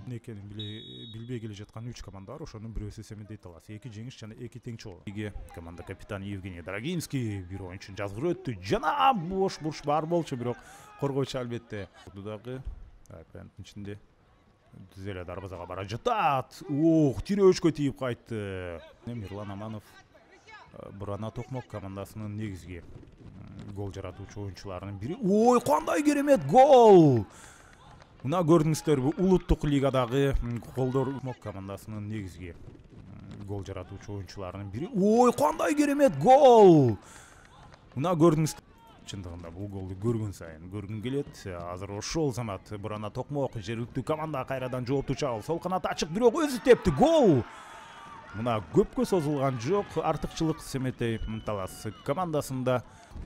экенин билбей келе жаткан 3 команда бар. Ошонун бирөөсү эсеби дейт аласыз. 2 жеңиш жана 2 теңчи болду. Команда капитаны Евгений Драгинский бир оюнчун жазгырып өттү. Жана бош бурч бар болчу, бирок коргоочу албетте. Дагы пенальтинин ичинде түз эле дарбазага бара жатат. Тирөөчкө тийип кайтты. Мирлан Аманов Бурана Токмок командасынын негизги гол жаратуучу оюнчуларынын бири. Кандай керемет гол! Мына көрдүңүздөрбү, улуттук лигадагы голдор командасынын негизги гол жаратуучу оюнчуларынын бири. Кандай керемет гол! Мына көрдүңүз. Чындыгында бул голду көргөн сайын көргүн келет. Азыр ошол замат Бурана Токмок жергиликтүү команда кайрадан жоопту чабыл. Сол канат ачык, бирок өзү тепти. Гол! Мына көпкө созулган жок. Артыкчылык Семетей Талас командасында.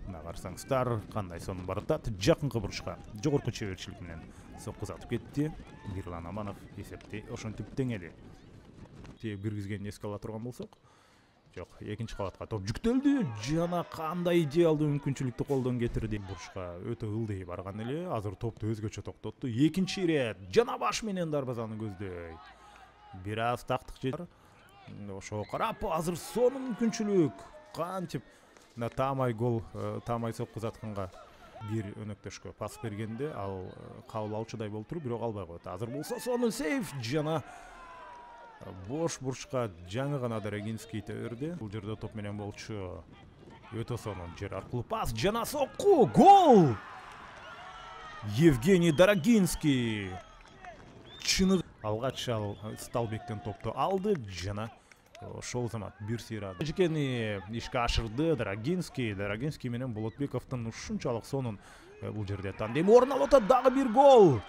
Мына карасаңыздар, кандай сонун баратат. Жакынкы бурчка жогорку чеберчилик менен соккузатып кетти. Мирлан Аманов эсепти ошентип теңеди. Теп киргизгенин эске ала турган болсок, жок, экинчи кабатка топ жүктөлдү. Жана кандай идеалдуу мүмкүнчүлүктү колдон кетирди. Бурчка өтө ылдый барган эле. Азыр топту өзгөчө токтотту. Экинчи ирет жана баш менен дарбазаны көздөй. Бир аз тактык жетер. Ошого карап, азыр сонун мүмкүнчүлүк. Кантип таамай гол, таамай соккузатканга бир өнөктөшкө пас бергенде ал кабыл алчудай болуп туруп, бирок албай коет. Азыр болсо сонун сейф жана бош бурчка жаңы гана Драгинский берди. Бул жерде топ менен болчу. Өтө сонун жер аркылуу пас жана сокку. Гол! Евгений Драгинский. Чыны алгач ал Сталбектен топту алды жана ошол замат бир сыйрады. Жекени ишке ашырды Драгинский. Драгинский менен Болотбековдун ушунчалык сонун бул жерде тандем орун алып атат. Дагы бир гол.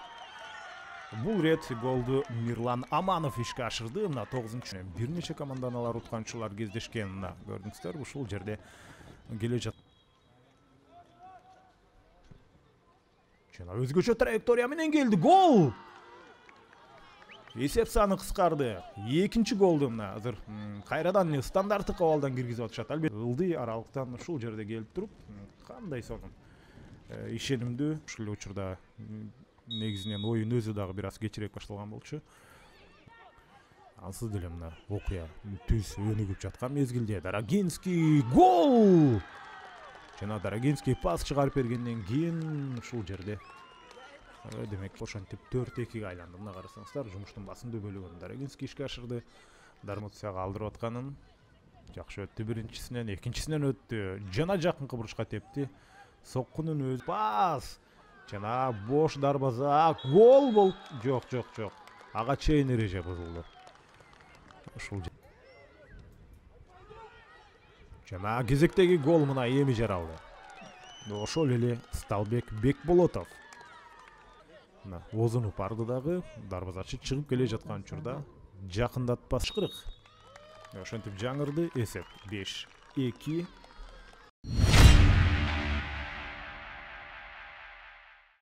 Бул рет голду Мирлан Аманов ишке ашырды. Мына 9-чы бир нече команданалар утканчылар кездешкен. Мына көрдүңүздөр, ушул жерде келе жат. Жана өзгөчө траектория менен келди. Гол! Эсеп саны кыскарды. Экинчи голду мына азыр кайрадан стандарттык абалдан киргизип атышат. Албетте ылдый аралыктан ушул жерде келип туруп, кандай сонун ишенимдүү. Ушул эле учурда негизинен оюн өзү дагы бир аз кечирээк башталган болчу. Ансыз деле мына окуя түз өнүгүп жаткан мезгилде Драгинский гол! Жана Драгинский пас чыгарып бергенден кийин ушул жерде демек ошентип 4-2 айланды. Мына карасаңыздар, жумуштун басымдуу бөлүгүн Драгинский ишке ашырды. Дармутсияга алдырып атканын жакшы өттү, биринчисинен, экинчисинен өттү. Жана жакынкы бурчка тепти. Соккунун өзү пас. Жана бош дарбаза. Гол бол. Жок. Ага чейин эреже бузулду. Ушул жана кезектеги гол мына эми жаралды. Ошол эле Сталбек Бекболотов. Мына озунуп барды дагы, дарбазачы чыгып келе жаткан учурда жакындатпас кырык. Ошентип жаңырды. Эсеп 5-2.